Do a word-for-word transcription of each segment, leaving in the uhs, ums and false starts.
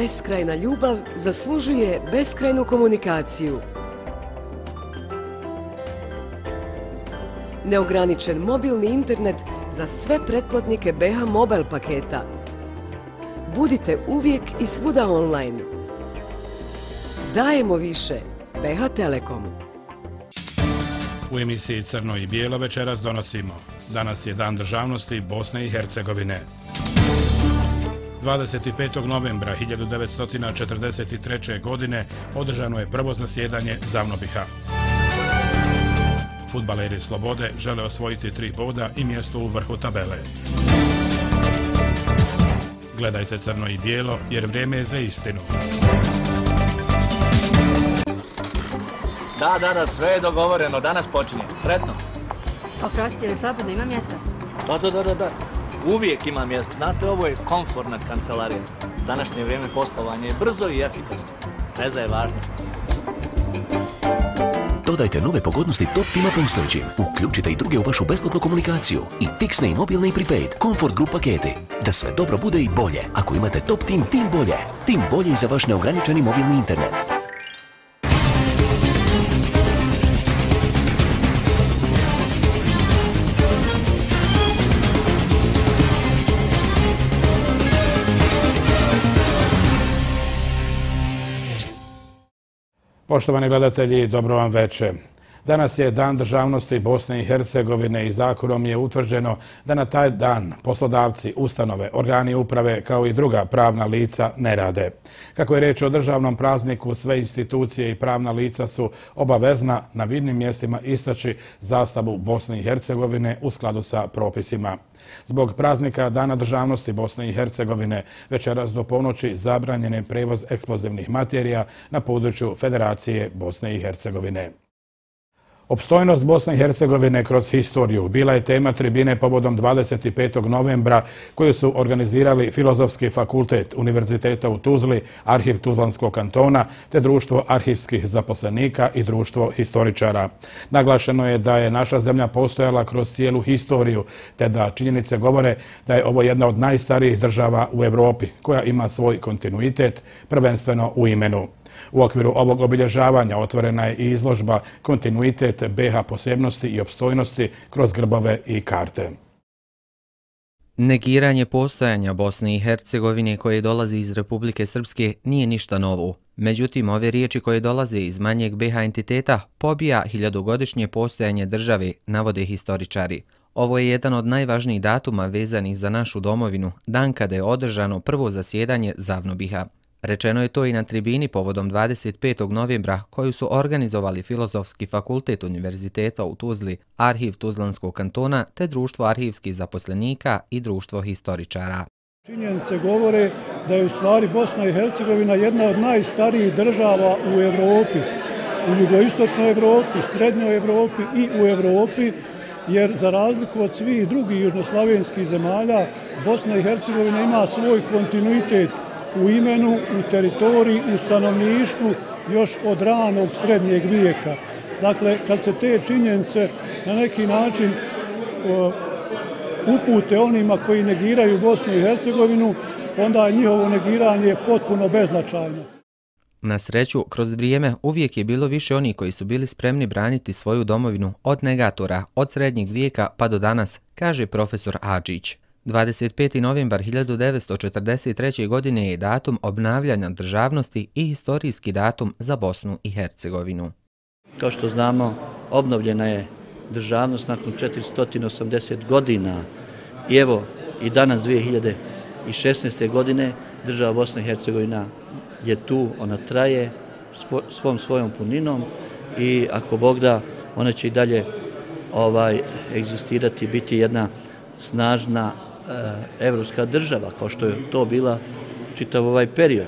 Beskrajna ljubav zaslužuje beskrajnu komunikaciju. Neograničen mobilni internet za sve pretplatnike B H Mobile paketa. Budite uvijek i svuda online. Dajemo više. B H Telekom. U emisiji Crno i bijelo večeras donosimo. Danas je Dan državnosti Bosne i Hercegovine. dvadeset petog novembra hiljadu devetsto četrdeset treće. godine održano je prvo zasjedanje Zavnobiha. Fudbaleri Slobode žele osvojiti tri boda i mjesto u vrhu tabele. Gledajte Crno i bijelo jer vrijeme je za istinu. Da, da, da, sve je dogovoreno. Danas počinje. Sretno. Oprosti, ili slobodno ima mjesta? Da, da, da, da, da. Uvijek ima mjesta. Znate, ovo je komfortna kancelarija. Današnje vrijeme poslovanja je brzo i efikasno. Veza je važna. Dodajte nove pogodnosti Top Tima postojećim. Uključite i druge u vašu besplatnu komunikaciju. I fiksne i mobilne i prepaid. Comfort Group paketi. Da sve dobro bude i bolje. Ako imate Top Tim, tim bolje. Tim bolje i za vaš neograničeni mobilni internet. Poštovani gledatelji, dobro vam večer. Danas je Dan državnosti Bosne i Hercegovine i zakonom je utvrđeno da na taj dan poslodavci, ustanove, organi uprave kao i druga pravna lica ne rade. Kako je riječ o državnom prazniku, sve institucije i pravna lica su obavezna na vidnim mjestima istaći zastavu Bosne i Hercegovine u skladu sa propisima. Zbog praznika Dana državnosti Bosne i Hercegovine večeras do ponoći zabranjen je prevoz eksplozivnih materija na području Federacije Bosne i Hercegovine. Opstojnost Bosne i Hercegovine kroz historiju bila je tema tribine povodom dvadeset petog novembra koju su organizirali Filozofski fakultet Univerziteta u Tuzli, Arhiv Tuzlanskog kantona te Društvo arhivskih zaposlenika i Društvo historičara. Naglašeno je da je naša zemlja postojala kroz cijelu historiju te da činjenice govore da je ovo jedna od najstarijih država u Europi koja ima svoj kontinuitet, prvenstveno u imenu. U okviru ovog obilježavanja otvorena je i izložba Kontinuitet B H posebnosti i opstojnosti kroz grbove i karte. Negiranje postojanja Bosne i Hercegovine koje dolazi iz Republike Srpske nije ništa novo. Međutim, ove riječi koje dolaze iz manjeg B H entiteta pobija hiljadugodišnje postojanje države, navode historičari. Ovo je jedan od najvažnijih datuma vezanih za našu domovinu, dan kada je održano prvo zasjedanje Zavnobiha. Rečeno je to i na tribini povodom dvadeset petog novembra koju su organizovali Filozofski fakultet Univerziteta u Tuzli, Arhiv Tuzlanskog kantona te Društvo arhivskih zaposlenika i Društvo historičara. Činjenice govore da je u stvari Bosna i Hercegovina jedna od najstarijih država u Europi, u jugoistočnoj Europi, srednjoj Europi i u Europi, jer za razliku od svih drugih južnoslavenskih zemalja, Bosna i Hercegovina ima svoj kontinuitet u imenu, u teritoriji, u stanovništvu još od ranog srednjeg vijeka. Dakle, kad se te činjenice na neki način uh, upute onima koji negiraju Bosnu i Hercegovinu, onda je njihovo negiranje potpuno beznačajno. Na sreću, kroz vrijeme uvijek je bilo više onih koji su bili spremni braniti svoju domovinu od negatora, od srednjeg vijeka pa do danas, kaže profesor Adžić. dvadeset peti novembar hiljadu devetsto četrdeset treće. godine je datum obnavljanja državnosti i historijski datum za Bosnu i Hercegovinu. Kao što znamo, obnovljena je državnost nakon četiristo osamdeset godina i evo i danas dvije hiljade šesnaeste. godine država Bosna i Hercegovina je tu, ona traje svom svojom puninom i ako Bog da, ona će i dalje ovaj, egzistirati, biti jedna snažna evropska država, kao što je to bila čitav ovaj period.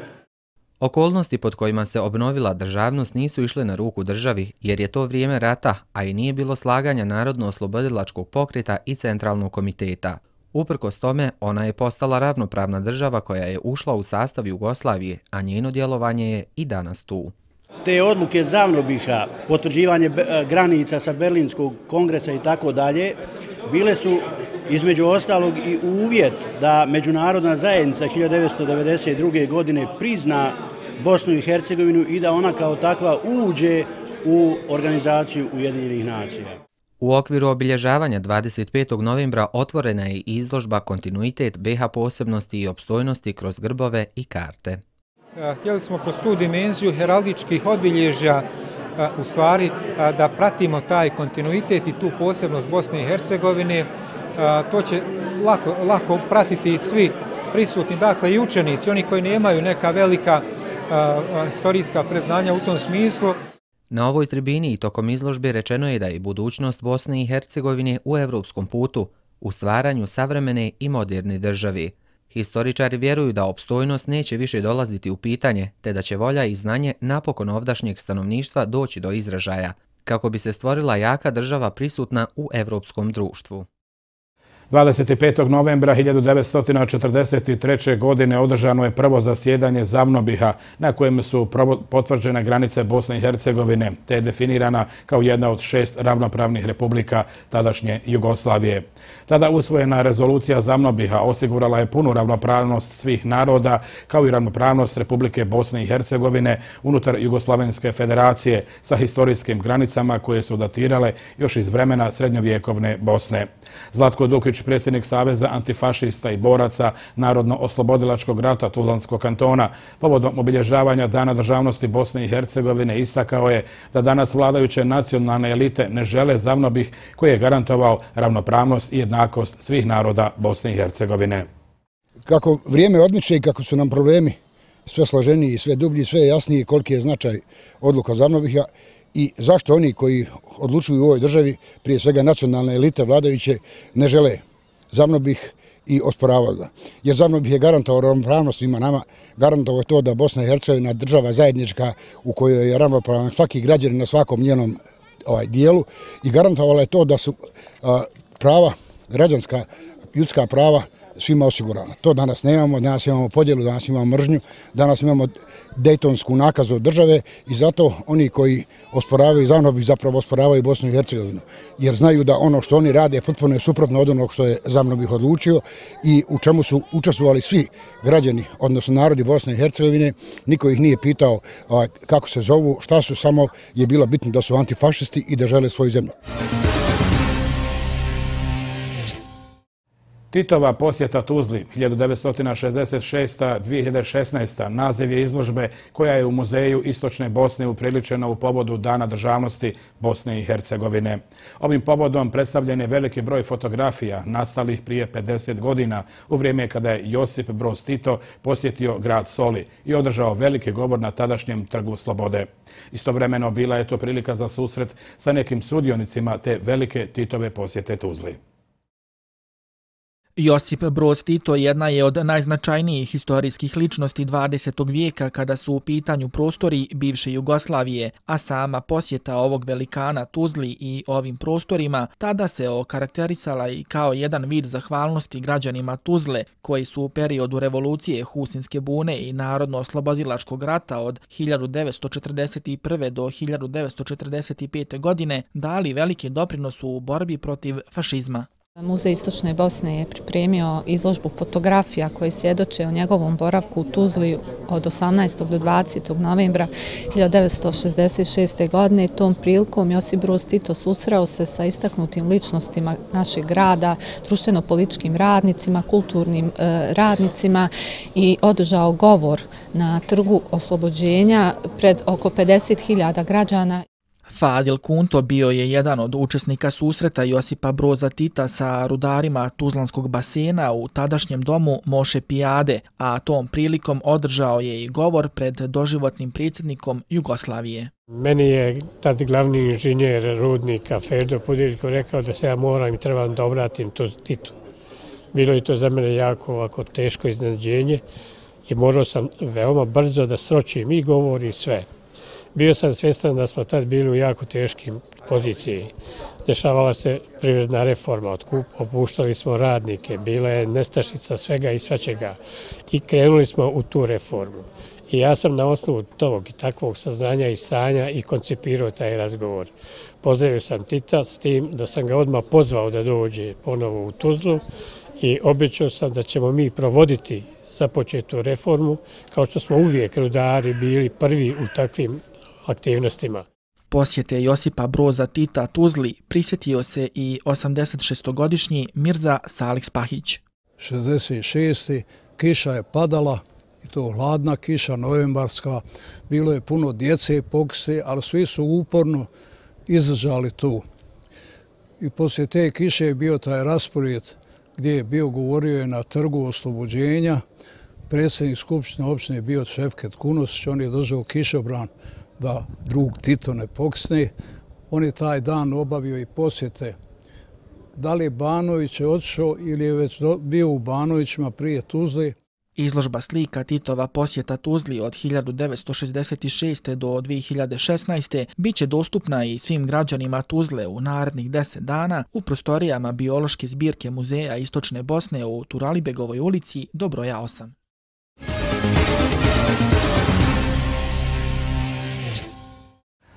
Okolnosti pod kojima se obnovila državnost nisu išle na ruku državi, jer je to vrijeme rata, a i nije bilo slaganja Narodno-oslobodilačkog pokreta i Centralnog komiteta. Uprkos tome, ona je postala ravnopravna država koja je ušla u sastav Jugoslavije, a njeno djelovanje je i danas tu. Te odluke Zavnobiha, potvrđivanje granica sa Berlinskog kongresa i tako dalje, bile su između ostalog i uvjet da međunarodna zajednica hiljadu devetsto devedeset druge. godine prizna Bosnu i Hercegovinu i da ona kao takva uđe u organizaciju Ujedinjenih nacija. U okviru obilježavanja dvadeset petog novembra otvorena je izložba Kontinuitet B i H posebnosti i opstojnosti kroz grbove i karte. Htjeli smo kroz tu dimenziju heraldičkih obilježja u stvari da pratimo taj kontinuitet i tu posebnost Bosne i Hercegovine. To će lako, lako pratiti svi prisutni, dakle i učenici, oni koji nemaju neka velika historijska predznanja u tom smislu. Na ovoj tribini i tokom izložbe rečeno je da je budućnost Bosne i Hercegovine u evropskom putu, u stvaranju savremene i moderne države. Historičari vjeruju da opstojnost neće više dolaziti u pitanje, te da će volja i znanje napokon ovdašnjeg stanovništva doći do izražaja, kako bi se stvorila jaka država prisutna u evropskom društvu. dvadeset petog novembra hiljadu devetsto četrdeset treće. godine održano je prvo zasjedanje ZAVNOBiH-a na kojem su potvrđene granice Bosne i Hercegovine, te je definirana kao jedna od šest ravnopravnih republika tadašnje Jugoslavije. Tada usvojena rezolucija ZAVNOBiH-a osigurala je punu ravnopravnost svih naroda, kao i ravnopravnost Republike Bosne i Hercegovine unutar Jugoslavenske federacije sa historijskim granicama koje su datirale još iz vremena srednjovjekovne Bosne. Zlatko Dukić, predsjednik Saveza antifašista i boraca Narodno-oslobodilačkog rata Tuzlanskog kantona, povodom obilježavanja Dana državnosti Bosne i Hercegovine istakao je da danas vladajuće nacionalne elite ne žele ZAVNOBiH koji je garantovao ravnopravnost i jednakost svih naroda Bosne i Hercegovine. Kako vrijeme odmiče i kako su nam problemi sve složeniji, sve dublji, sve jasniji koliki je značaj odluka ZAVNOBiH-a i zašto oni koji odlučuju u ovoj državi, prije svega nacionalne elite vladajuće, ne žele ZAVNOBiH i osporavaju ga. Jer ZAVNOBiH je garantovao ravnopravnost svima nama, garantovao je to da Bosna i Hercegovina država zajednička u kojoj je ravnopravan svaki građanin na svakom njenom ovaj, dijelu i garantovala je to da su a, prava, građanska, ljudska prava svima osigurana. To danas nemamo, danas imamo podjelu, danas imamo mržnju, danas imamo dejtonsku nakazu od države i zato oni koji osporavaju ZAVNOBiH zapravo osporavaju Bosnu i Hercegovinu, jer znaju da ono što oni rade potpuno je suprotno od onog što je ZAVNOBiH odlučio i u čemu su učestvovali svi građani, odnosno narodi Bosne i Hercegovine. Niko ih nije pitao kako se zovu, šta su, samo je bilo bitno da su antifašisti i da žele svoju zemlju. Titova posjeta Tuzli hiljadu devetsto šezdeset šeste do dvije hiljade šesnaeste. naziv je izložbe koja je u Muzeju Istočne Bosne upriličena u povodu Dana državnosti Bosne i Hercegovine. Ovim povodom predstavljen je veliki broj fotografija nastalih prije pedeset godina u vrijeme kada je Josip Broz Tito posjetio grad Soli i održao veliki govor na tadašnjem Trgu Slobode. Istovremeno bila je to prilika za susret sa nekim sudionicima te velike Titove posjete Tuzli. Josip Broz Tito jedna je od najznačajnijih historijskih ličnosti dvadesetog vijeka kada su u pitanju prostori bivše Jugoslavije, a sama posjeta ovog velikana Tuzli i ovim prostorima tada se okarakterisala i kao jedan vid zahvalnosti građanima Tuzle koji su u periodu revolucije Husinske bune i Narodno-oslobodilačkog rata od hiljadu devetsto četrdeset prve. do hiljadu devetsto četrdeset pete. godine dali veliki doprinos u borbi protiv fašizma. Muzej Istočne Bosne je pripremio izložbu fotografija koje svjedoče o njegovom boravku u Tuzli od osamnaestog do dvadesetog novembra hiljadu devetsto šezdeset šeste. godine. Tom prilikom Josip Broz Tito susreo se sa istaknutim ličnostima našeg grada, društveno-političkim radnicima, kulturnim e, radnicima i održao govor na Trgu Oslobođenja pred oko pedeset hiljada građana. Fadil Kunto bio je jedan od učesnika susreta Josipa Broza Tita sa rudarima Tuzlanskog basena u tadašnjem domu Moše Pijade, a tom prilikom održao je i govor pred doživotnim predsjednikom Jugoslavije. Meni je tad glavni inženjer rudnika Ferdo Pudiljko rekao da se ja moram i trebam da obratim to Titu. Bilo je to za mene jako ovako teško iznenađenje i morao sam veoma brzo da sročim i govor i sve. Bio sam svjestan da smo tad bili u jako teškim poziciji. Dešavala se privredna reforma, opuštali smo radnike, bila je nestašica svega i svačega i krenuli smo u tu reformu. I ja sam na osnovu tog i takvog saznanja i stanja i koncipirao taj razgovor. Pozdravio sam Tita s tim da sam ga odmah pozvao da dođe ponovo u Tuzlu i obećao sam da ćemo mi provoditi započetu reformu, kao što smo uvijek rudari bili prvi u takvim aktivnostima. Posjete Josipa Broza Tita Tuzli prisjetio se i osamdeset šestogodišnji Mirza Salih Spahić. šezdeset šeste. kiša je padala, i to hladna kiša, novembarska, bilo je puno djece, pokste, ali svi su uporno izdržali tu. I poslije te kiše je bio taj raspored gdje je bio, govorio je na trgu oslobođenja, predsjednik Skupštine opštine je bio Šefket Kunosić, on je držao kišobran da drug Tito ne poksne. On je taj dan obavio i posjete. Da li je Banović je otišao ili je već bio u Banovićima prije Tuzle. Izložba slika Titova posjeta Tuzli od hiljadu devetsto šezdeset šeste. do dvije hiljade šesnaeste. bit će dostupna i svim građanima Tuzle u narednih deset dana u prostorijama biološke zbirke Muzeja Istočne Bosne u Turalibegovoj ulici do broja osam.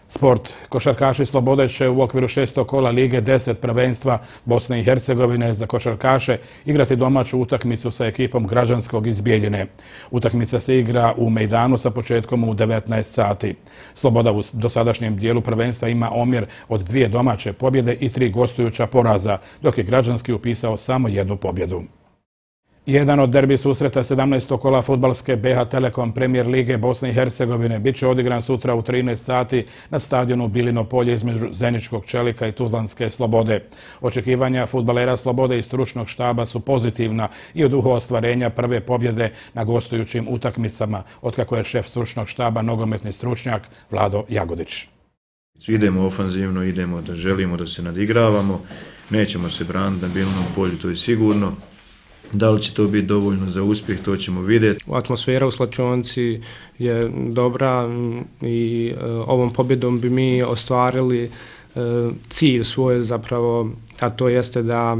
Sport. Košarkaši Slobode će u okviru šestog kola Lige deset prvenstva Bosne i Hercegovine za košarkaše igrati domaću utakmicu sa ekipom Građanskog iz Bijeljine. Utakmica se igra u Mejdanu sa početkom u devetnaest sati. Sloboda u dosadašnjem dijelu prvenstva ima omjer od dvije domaće pobjede i tri gostujuća poraza, dok je Građanski upisao samo jednu pobjedu. Jedan od derbi susreta sedamnaestog kola fudbalske B H Telekom Premijer Lige Bosne i Hercegovine bit će odigran sutra u trinaest sati na stadionu Bilino polje između Zeničkog Čelika i Tuzlanske Slobode. Očekivanja fudbalera Slobode i stručnog štaba su pozitivna i u duhu ostvarenja prve pobjede na gostujućim utakmicama, otkako je šef stručnog štaba nogometni stručnjak Vlado Jagodić. Idemo ofanzivno, idemo da želimo da se nadigravamo, nećemo se braniti na Bilinom polju, to je sigurno. Da li će to biti dovoljno za uspjeh, to ćemo vidjeti. Atmosfera u slačionci je dobra i e, ovom pobjedom bi mi ostvarili e, cilj svoj zapravo, a to jeste da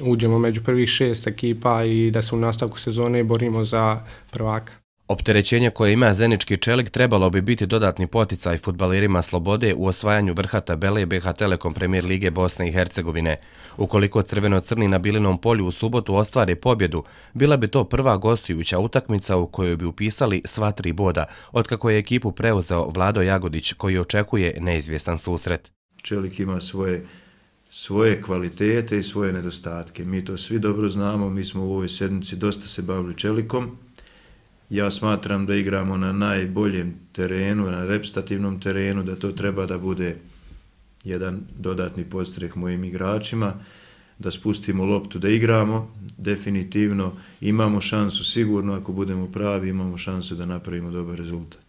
uđemo među prvih šest ekipa i da se u nastavku sezone borimo za prvaka. Opterećenje koje ima Zenički Čelik trebalo bi biti dodatni poticaj fudbalerima Slobode u osvajanju vrha tabele B H Telekom Premijer Lige Bosne i Hercegovine. Ukoliko crveno-crni na Bilinom polju u subotu ostvare pobjedu, bila bi to prva gostujuća utakmica u kojoj bi upisali sva tri boda, otkako je ekipu preuzeo Vlado Jagodić koji očekuje neizvjestan susret. Čelik ima svoje, svoje kvalitete i svoje nedostatke. Mi to svi dobro znamo, mi smo u ovoj sedmici dosta se bavili Čelikom. Ja smatram da igramo na najboljem terenu, na reprezentativnom terenu, da to treba da bude jedan dodatni podstrek mojim igračima, da spustimo loptu da igramo. Definitivno imamo šansu, sigurno ako budemo pravi, imamo šansu da napravimo dobar rezultat.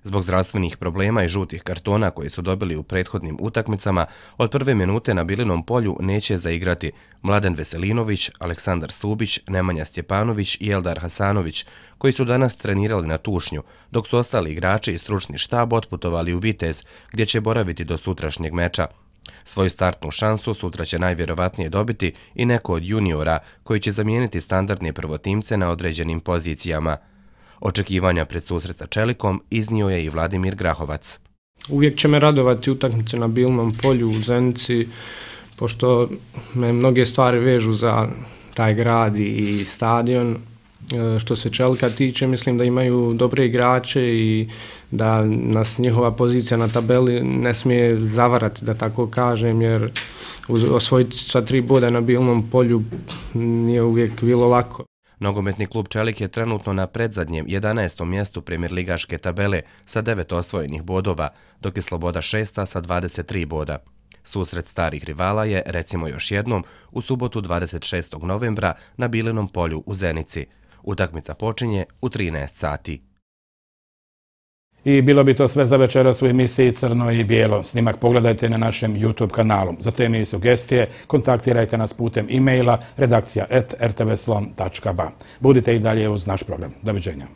Zbog zdravstvenih problema i žutih kartona koje su dobili u prethodnim utakmicama, od prve minute na Bilinom polju neće zaigrati Mladen Veselinović, Aleksandar Subić, Nemanja Stjepanović i Eldar Hasanović, koji su danas trenirali na Tušnju, dok su ostali igrači i stručni štab otputovali u Vitez, gdje će boraviti do sutrašnjeg meča. Svoju startnu šansu sutra će najvjerovatnije dobiti i neko od juniora koji će zamijeniti standardne prvotimce na određenim pozicijama. Očekivanja pred susret sa Čelikom iznio je i Vladimir Grahovac. Uvijek će me radovati utakmice na Bilinom polju u Zenici, pošto me mnoge stvari vežu za taj grad i stadion. Što se Čelika tiče, mislim da imaju dobre igrače i da nas njihova pozicija na tabeli ne smije zavarati, da tako kažem, jer osvojiti sva tri boda na Bilinom polju nije uvijek bilo lako. Nogometni klub Čelik je trenutno na predzadnjem jedanaestom mjestu premijerligaške tabele sa devet osvojenih bodova, dok je Sloboda šesta sa dvadeset tri boda. Susret starih rivala je, recimo još jednom, u subotu dvadeset šestog novembra na Bilinom polju u Zenici. Utakmica počinje u trinaest sati. I bilo bi to sve za večeras u emisiji Crno i bijelo. Snimak pogledajte na našem YouTube kanalu. Za teme i sugestije kontaktirajte nas putem e-maila redakcija at r t v slon tačka b a. Budite i dalje uz naš program. Doviđenja.